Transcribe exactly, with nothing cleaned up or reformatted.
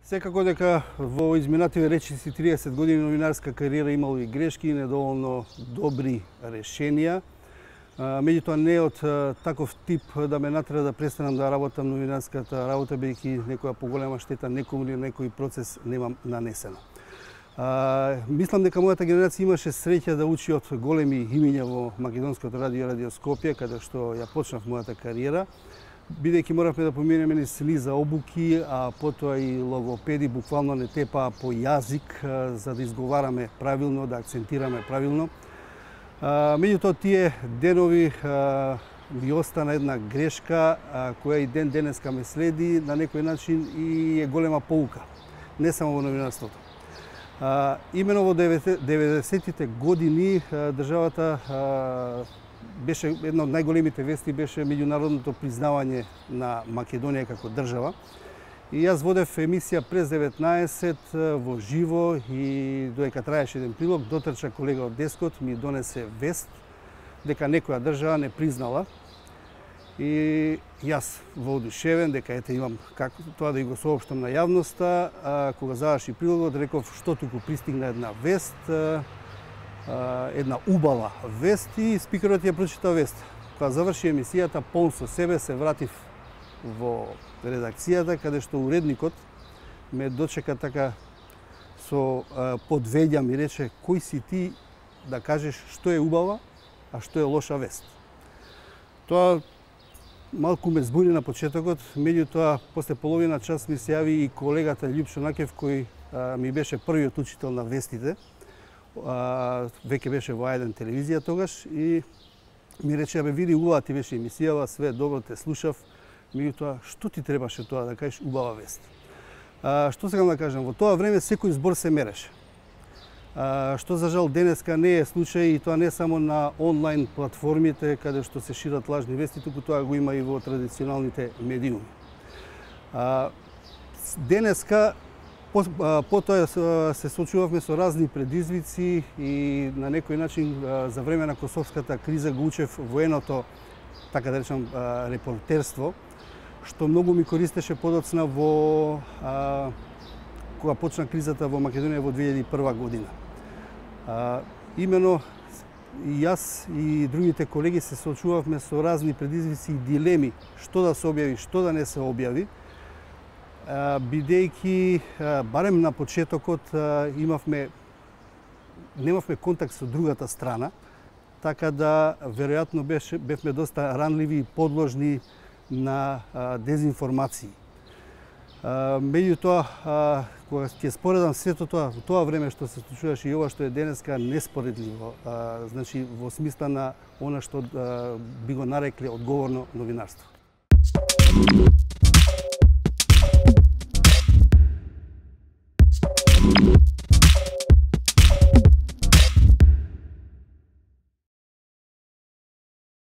Секако дека во изминативе речиси триесет години новинарска кариера имало и грешки и недоволно добри решенија. Меѓутоа не од таков тип да ме натера да престанам да работам новинарската работа, бидејќи некоја поголема штета некому или некој процес немам нанесено. А, мислам дека мојата генерација имаше среќа да учи од големи имиња во македонското радио Радио Скопје, каде што ја почнав мојата кариера, бидејќи моравме да поминеме низ низа обуки, а потоа и логопеди буквално не тепаа по јазик за да изговараме правилно, да акцентираме правилно. Меѓутоа тие денови ми остана една грешка која и ден денеска ме следи на некој начин и е голема поука, не само во новинарството. Имено во деветдесетите години државата беше една од најголемите вести беше меѓународното признавање на Македонија како држава. И јас водев емисија през деветнаесет во живо и додека траеше еден прилог, дотрча колега од дескот, ми донесе вест дека некоја држава не признала. И јас воодушевен дека ете имам како тоа да и го соопштам на јавноста, а, кога заврши прилогот реков што туку пристигна една вест, а, една убава вест и спикерот ја прочита вест. Кога заврши емисијата, полн со себе се вратив во редакцијата, каде што уредникот ме дочека така со подвеѓа, ми рече кој си ти да кажеш што е убава, а што е лоша вест. Тоа малку ме збуни на почетокот, меѓутоа после половина час ми се јави и колегата Љупшо Накев, кој а, ми беше првиот учител на вестите. А, веќе беше во А еден телевизија тогаш и ми рече, абе види, убава ти беше емисијава, све добро те слушав, меѓутоа што ти требаше тоа да кажеш убава вест. А, што сакам да кажам, во тоа време секој збор се мереше. А, што за жал денеска не е случај и тоа не само на онлайн платформите каде што се шират лажни вести, туку тоа го има и во традиционалните медиуми. А, денеска потоа се соочувавме со разни предизвици и на некој начин за време на косовската криза го учев военото, така да речам, репортерство, што многу ми користеше подоцна во а, кога почна кризата во Македонија во две илјади и прва година. А, имено и јас и другите колеги се соочувавме со разни предизвици и дилеми што да се објави, што да не се објави, бидејќи барем на почетокот имавме немавме контакт со другата страна, така да веројатно беше бевме доста ранливи и подложни на дезинформации. Меѓутоа, кога ќе споредам сето тоа, во тоа време што се случуваше и ова што е денеска неспоредливо, значи во смисла на она што би го нарекле одговорно новинарство. Thank you.